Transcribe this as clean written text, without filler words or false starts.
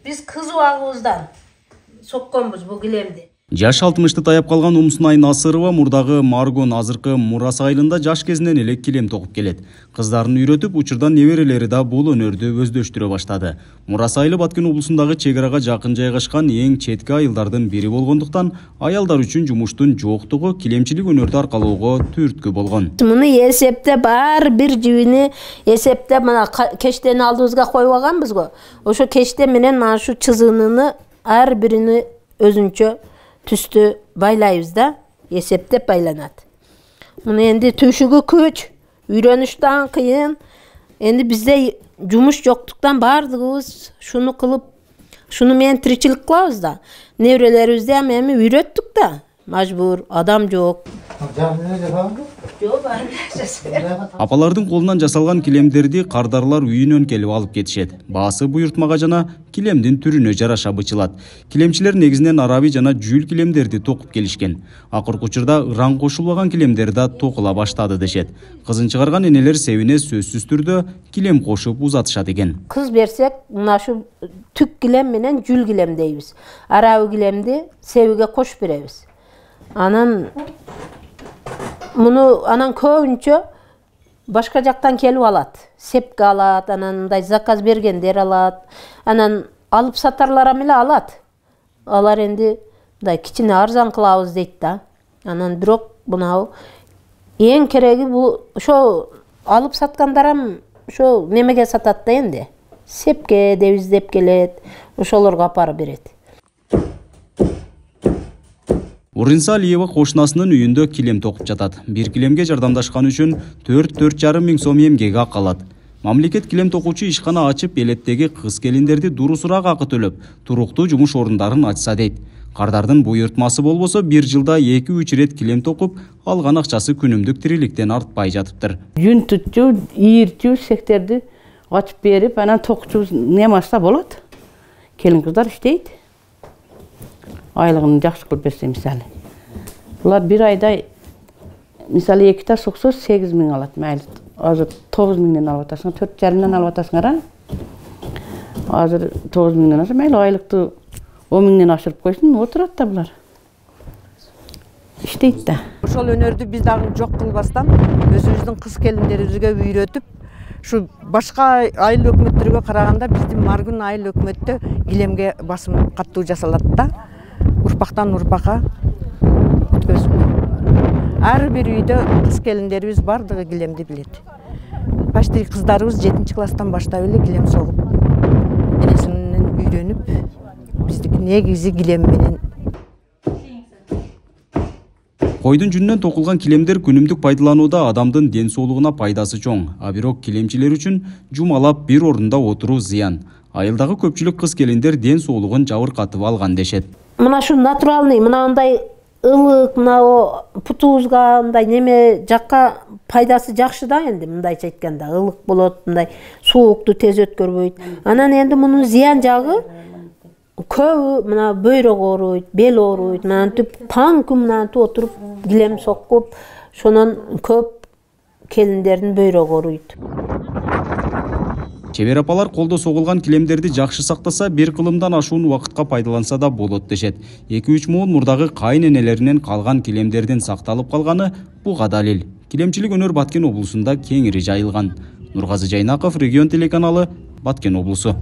Биз кыз убагыбыздан сокконбуз бул килемди. Жаш 60-ты таяп калган Умсунай Насырова мурдагы Маргон азыркы Мурас айылында жаш кезинен эле килем токуп келет. Кыздарын үйрөтүп, учурдан неберелери да бул өнөрдү өздөштүрө баштады. Мурас айылы Баткен облусундагы чек арага жакын жайгашкан эң четки айылдардын бири болгондуктан аялдар үчүн жумуштун жоктугу килемчилик өнөрдү аркалоого түрткү болгон. Муну эсептеп баары бир жибини эсептеп мына кештени алдыбызга коюп алганбыз го. Ошо кечте менен мына ушу чызыныны ар бирини өзүнчө түстү байлайбыз да, эсептеп байланат. Муну энди түшүгү күч, үйрөнүштөн кыйын. Энди бизде жумуш жоктуктан бардыгыбыз шуну кылып, шуну менен тиричилик кылабыз да. Неберелерибизди эми үйрөттүк да, мажбур, адам жок. Апалардын колунан жасалган килемдерди кардарлар үйүнөн келип алып кетишет. Баасы буйртмага жана килемдин түрүнө жараша бычылат. Килемчилер негизинен араби жана жүл килемдерди токуп келишкен. Акыркы учурда ыран кошулбаган килемдер да токула баштады дешет. Кызын чыгарган энелер себине сөзсүз түрдө килем кошуп узатышат экен. Кыз берсек, мына ушу түк килем менен жүл килем дейбиз. Араби килемди себиге кошуп беребиз. Анан муну көбүнчө башка жактан келип алат. Сепке алат, анан мындай заказ бергендер алат. Анан алып сатарлар эле алат. Алар энди мындай кичине арзан кылабыз дейт да. Анан бирок мынау эң кереги бул ошо алып саткандарым ошо немеге сатат да энди. Сепке деп издеп келет, ошолорго апарып берет. Уринса Алиева кошунасынын үйүндө килем токуп жатат. Бир килемге жардамдашкан үчүн 4-4,5 миң сом эмгеге акы алат. Мамлекет килем токуучу ишкана ачып, элеттеги кыз келиндерди дурусураак акы төлөп, туруктуу жумуш орундарын ачса дейт. Кардардын буйртмасы болбосо, бир жылда 2-3 ирет килем токуп, алган акчасы күнүмдүк тириликтен артпай жатыптыр. Жүн tutчу, ийирчү сектерди ачып берип, анан токчу немаса болот. Келин кыздар иштейт. Айлыгын жакшы көрүп берсе мисалы. Булар бир айда мисалы 2 та соксо 8 миң алат. Майыл азыр 9 миңден алып атасың, 4,5-ден алып атасыңар. Азыр 9 миңден алса, майыл айлыкты 10 миңден ашырып койсун, отурат да булар. Иштейт да. Ошол өнөрдү биз дагы жок кылбастан өзүбүздүн кыз келиндерибизге үйрөтүп, шу башка айыл өкмөттөргө караганда биздин Маргун айыл өкмөттө килемге басым каттуу жасалат да. Урпактан урпакка өткөзүп. Ар бир үйдө кыз келиндерибиз бардыгы килемди билет. Почти кыздарыбыз 7-класстан баштап эле килем согуп, энесинен үйрөнүп, биздики негизи килем менен. Койдун жүнүнөн токулган килемдер күнүмдүк пайдаланууда адамдын ден соолугуна пайдасы чоң. А бирок килемчилер үчүн жумалап бир орунда отуруу зыян. Айылдагы көпчүлүк кыз келиндер ден соолугун жабыркатып алган дешет. Мына шу натуралный, мынандай ылык, мына путубузга мындай неме жакка пайдасы жакшы да энди, мындайча айтканда, ылык болот, мындай суукту тез өткөрбөйт. Анан энди мунун зыян жагы көбү мына бөйрөк ооруйт, бел ооруйт, мынантип таң күн мынантип отуруп килем сокуп, шонон көп келиндердин бөйрөгү ооруйт. Чебер апалар колдо согулган килемдерди жакшы сактаса, бир кылымдан ашуун убакытка пайдаланса да болот дешет. 2-3 муун мурдагы кайын энелеринен калган килемдердин сакталып калганы буга далил. Килемчилик өнөр Баткен облусунда кеңири жайылган. Нургазы Жайнаков, Регион телеканалы, Баткен облусу.